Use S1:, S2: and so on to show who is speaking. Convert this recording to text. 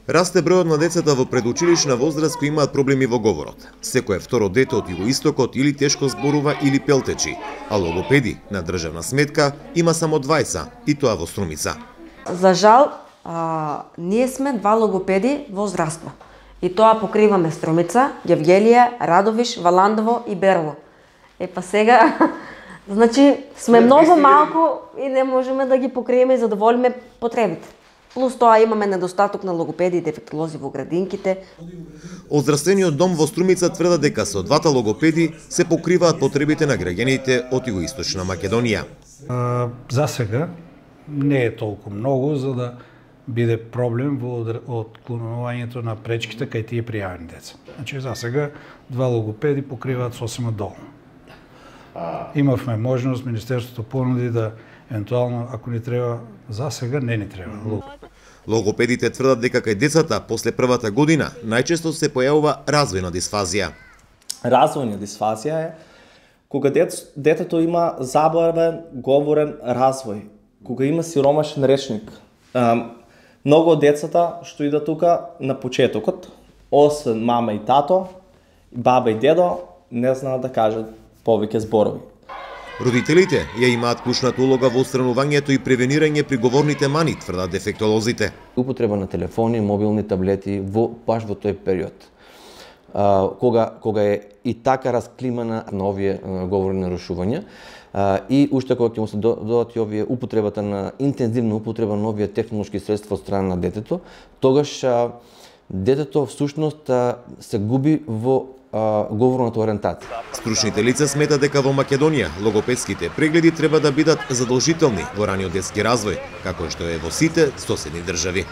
S1: Расте бројот на децата во предучилишна возраст кои имаат проблеми во говорот. Секое второ дете од југоистокот или тешко зборува или пелтечи, а логопеди на државна сметка има само 20, и тоа во Струмица.
S2: За жал, ние сме 2 логопеди во здравство. И тоа покриваме Струмица, Гевгелија, Радовиш, Валандово и Берло. Па сега, значи, сме многу малку и не можеме да ги покриеме и задоволиме потребите. Плюс тоа имаме недостаток на логопеди и дефектолози во градинките.
S1: Од здравствениот дом во Струмица тврдат дека со 2 логопеди се покриваат потребите на граѓаните од Југоисточна Македонија.
S3: За сега не е толку многу за да биде проблем во отклонувањето на пречките кај тие пријавени деца. Значи за сега 2 логопеди покриваат сосема доволно. Имавме можност, Министерството понуди да евентуално, ако ни треба, за сега не ни треба.
S1: Логопедите тврдат дека кај децата после првата година најчесто се појавува развојна дисфазија.
S4: Развојна дисфазија е кога детето има забавен говорен развој, кога има сиромашен речник. Многу од децата што идат тука на почетокот, освен мама и тато, баба и дедо, не знаат да кажат повеќе зборови.
S1: Родителите ја имаат клучната улога во отстранувањето и превенирање при говорните мани, тврдат дефектолозите.
S5: Употреба на телефони, мобилни таблети баш во тој период. Кога е и така расклимана на овие говорни нарушувања и уште кога ќе му се додат и овие употребата на интензивна употреба на овие технолошки средства од страна на детето, тогаш детето всушност се губи во говорната ориентација.
S1: Стручните лица сметат дека во Македонија логопедските прегледи треба да бидат задолжителни во раниот детски развој, како што е во сите соседни држави.